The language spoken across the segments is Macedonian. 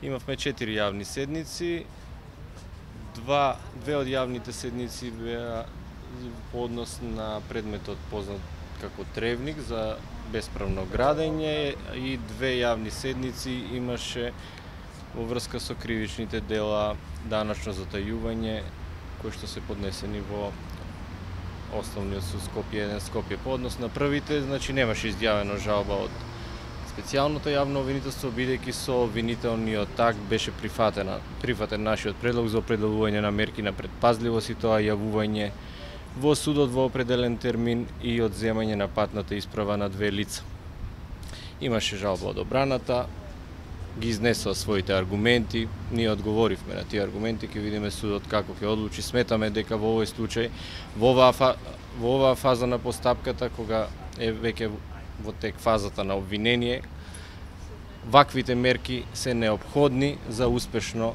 Имавме 4 јавни седници. Две од јавните седници беа по однос на предметот познат како тревник за бесправно градење и 2 јавни седници имаше во врска со кривичните дела даначно затајување кои што се поднесени во Основниот суд Скопје 1 Скопје. По однос на првите, значи немаше изјавено жалба од специјалното јавно обвинителство, бидејќи со обвинителниот акт беше прифатен нашиот предлог за определување на мерки на предпазливост и тоа јавување во судот во определен термин и одземање на патната исправа на 2 лица. Имаше жалба од одбраната, ги изнесоа своите аргументи, ние одговоривме на тие аргументи, ќе видиме судот како ќе одлучи. Сметаме дека во овој случај, во оваа фаза на постапката, кога е веќе во тек фазата на обвинение, ваквите мерки се неопходни за успешно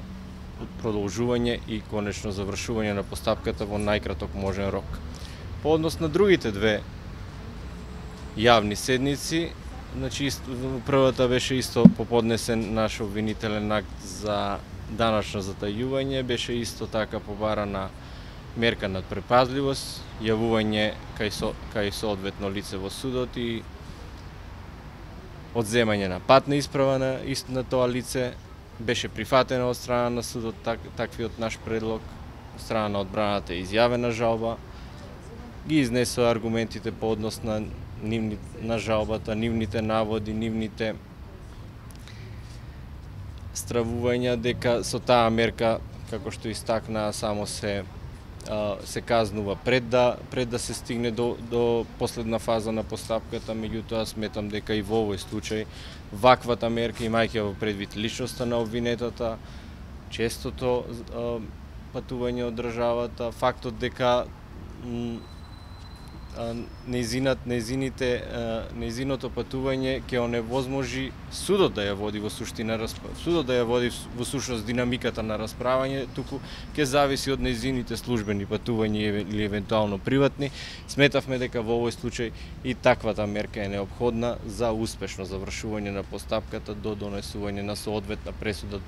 продолжување и конечно завршување на постапката во најкраток можен рок. По однос на другите 2 јавни седници, значи првата беше исто поподнесен наш обвинителен акт за даначно затајување, беше исто така побарана мерка над предпазливост, јавување кај соодветно лице во судот и одземање на патна исправа на тоа лице. Беше прифатено од страна на судот таквиот наш предлог, од страна на одбраната е изјавена жалба, ги изнесоа аргументите по однос на жалбата, нивните наводи, нивните стравувања дека со таа мерка, како што истакнаа, само се казнува пред да се стигне до последна фаза на постапката. Меѓутоа сметам дека и во овој случај ваквата мерка, имајќи во предвид личноста на обвинетата, честото патување од државата, фактот дека нејзиното патување ќе оневозможи судот да ја води во сушност динамиката на расправање, туку ќе зависи од нејзините службени патувања или евентуално приватни. Сметавме дека во овој случај и таквата мерка е неопходна за успешно завршување на постапката до донесување на соодветна пресуда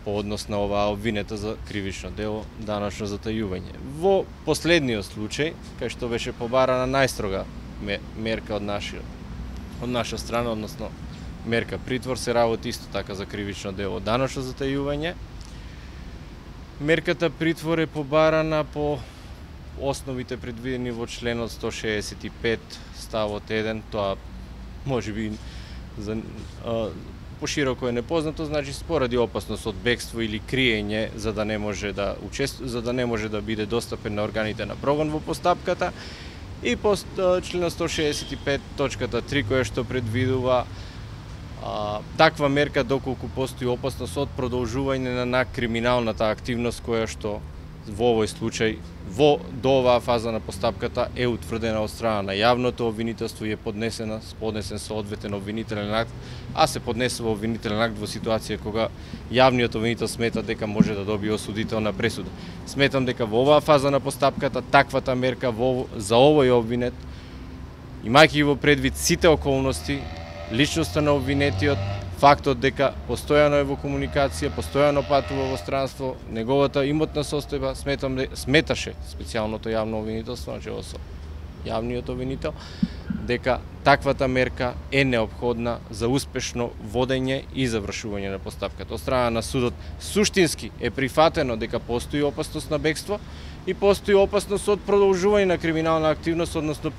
по однос на оваа обвинета за кривично дело даначно затајување. Во последниот случај, кај што беше побарана најстрога мерка од наша страна, односно мерка притвор, се работи исто така за кривично дело даначно затајување. Мерката притвор е побарана по основите предвидени во членот 165 ставот 1, тоа можеби пошироко е непознато, значи поради опасност од бегство или криење за да не може да биде достапен на органите на прогон во постапката, и по членот 165 точката 3 која што предвидува таква мерка доколку постои опасност од продолжување на криминалната активност која што во овој случај до оваа фаза на постапката е утврдена од страна на јавното обвинителство и е поднесен соодветен обвинителен акт, а се поднесува обвинителен акт во ситуација кога јавниот обвинител смета дека може да добие осудителна пресуда. Сметам дека во оваа фаза на постапката таквата мерка за овој обвинет, имајќи во предвид сите околности, личноста на обвинетиот, фактот дека постојано е во комуникација, постојано патува во странство, неговата имотна состојба, сметаше специјалното јавно обвинителство, начело со јавниот обвинител, дека таквата мерка е неопходна за успешно водење и завршување на постапката. Од страна на судот суштински е прифатено дека постои опасност на бегство и постои опасност од продолжување на криминална активност, односно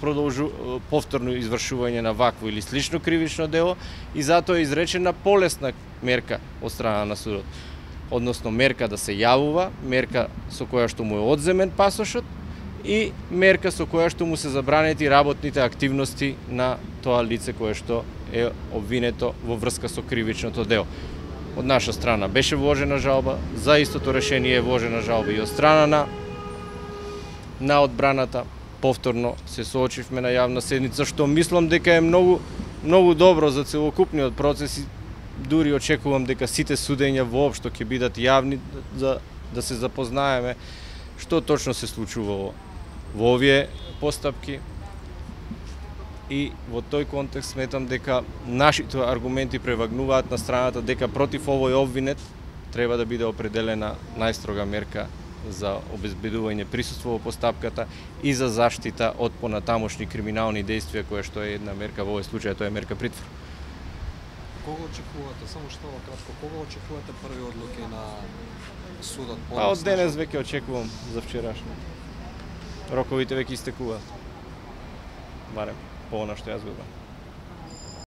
повторно извршување на вакво или слично кривично дело, и затоа е изречена полесна мерка од страна на судот. Односно мерка да се јавува, мерка со која што му е одземен пасошот и мерка со која што му се забранети работните активности на тоа лице кое што е обвинето во врска со кривичното дело. Од наша страна беше вложена жалба, за истото решение е вложена жалба и од страна на одбраната. Повторно се соочивме на јавна седница, што мислам дека е многу добро за целокупниот процес и дури очекувам дека сите судења воопшто ќе бидат јавни, за да се запознаеме што точно се случувало во овие постапки И во тој контекст сметам дека нашите аргументи превагнуваат на страната дека против овој обвинет треба да биде определена најстрога мерка за обезбедување присуство во постапката и за заштита од понатамошни криминални действија, која што е една мерка, во овој случај тоа е мерка притвор. Кога очекувате, само што кратко, кога очекувате први одлуки на судот? Од денес веќе очекувам за вчерашно. Роковите веќе истекуваат. Барем по она што јас го